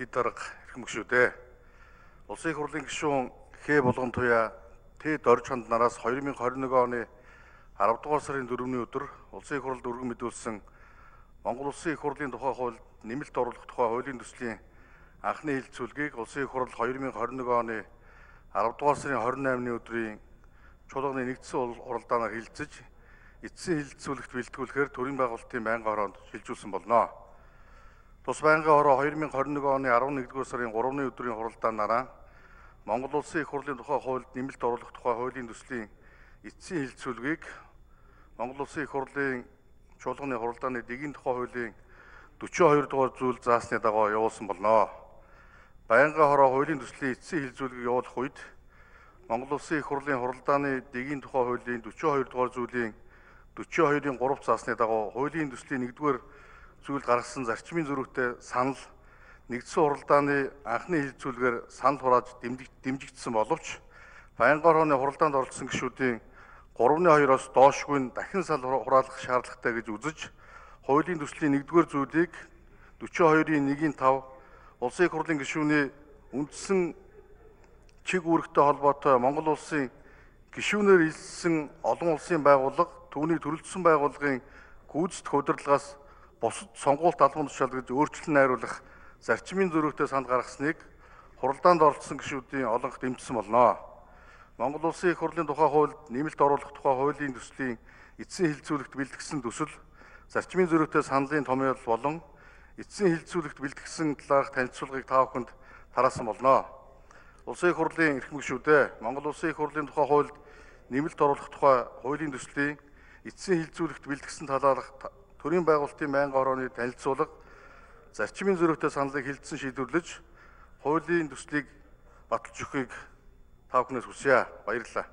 Дид дарга эрхэм гишүүдээ. Улсын их хурлын гишүүн Хэ Булган туяа Тэд Орж ханд нараас 2021 оны 10 дугаар сарын 4-ний өдөр улсын их хурлд өргөн мэдүүлсэн Монгол улсын их хурлын тухай хуульд нэмэлт оруулах тухай хуулийн төслийн анхны хэлэлцүүлгийг улсын их хурл 2021 оны 10 дугаар сарын 28-ны өдрийн чуулганы нэгдсэн уралдаанаар хэлэлцэж эцсийн хэлэлцүүлэгт бэлтгүүлэхээр төрийн байгуулалтын байнгын хороонд шилжүүлсэн болно. Тус байнгын хороо 2021 оны 11-р сарын 3-ны өдрийн хуралдаанаараа Монгол улсын их хурлын тухай хуульд нэмэлт оруулах тухай хуулийн төслийн эцсийн хэлэлцүүлгийг Монгол улсын их хурлын чуулганы хуралдааны дэгийн тухай хуулийн 42 дугаар зүйл заасны дагуу явуулсан болно. Байнгын хороо хуулийн төслийн эцсийн хэлэлцүүлгийг явуулах үед Монгол улсын их хурлын хуралдааны дэгийн тухай хуулийн 42 дугаар зүйлийн 42-ийн 3 заасны дагуу хуулийн төслийн 1-р зүйл гаргасан зарчмын зөрүүтэй санал нэгдсэн хуралдааны анхны хэлэлцүүлгээр санал хурааж дэмжигдсэн боловч байнгын хорооны хуралдаанд оролцсон гишүүдийн 3/2-оос доошгүй дахин санал хураалах шаардлагатай гэж үзэж хуулийн төслийн 1-р зүйлийг 42-ийн 1-5 улсын их хурлын гишүүний үндсэн чиг үүрэгтэй холбоотой Монгол улсын гишүүнээр илсэн олон улсын байгууллага түүний төрөлдсөн байгууллагын гүйцэтгэх удирдлагаас бусад сонгуульт албан тушаал гэж өөрчлөлт найруулах зарчмын зөрүүтэй санал гаргасныг хуралдаанд оролцсон гишүүдийн олонх дэмжсэн болно. Монгол улсын их хурлын тухай хуульд нэмэлт оруулах тухай хуулийн төслийн эцсийн хэлэлцүүлэгт бэлтгэсэн төсөл зарчмын зөрүүтэй саналын томьёол болон эцсийн хэлэлцүүлэгт бэлтгэсэн талаарх танилцуулгыг та бүхэнд тараасан болно. Улсын их хурлын эрхэм гишүүдээ Монгол улсын их хурлын тухай хуульд нэмэлт оруулах тухай хуулийн төслийн эцсийн хэлэлцүүлэгт бэлтгэсэн талаарх төрийн байгуулалтын байнгын хорооны танилцуулга зарчмын зөрүүтэй саналыг хэлэлцэн шийдвэрлэж хуулийн төслийг баталж өгөхийг та бүхнээс хүсье. Баярлалаа.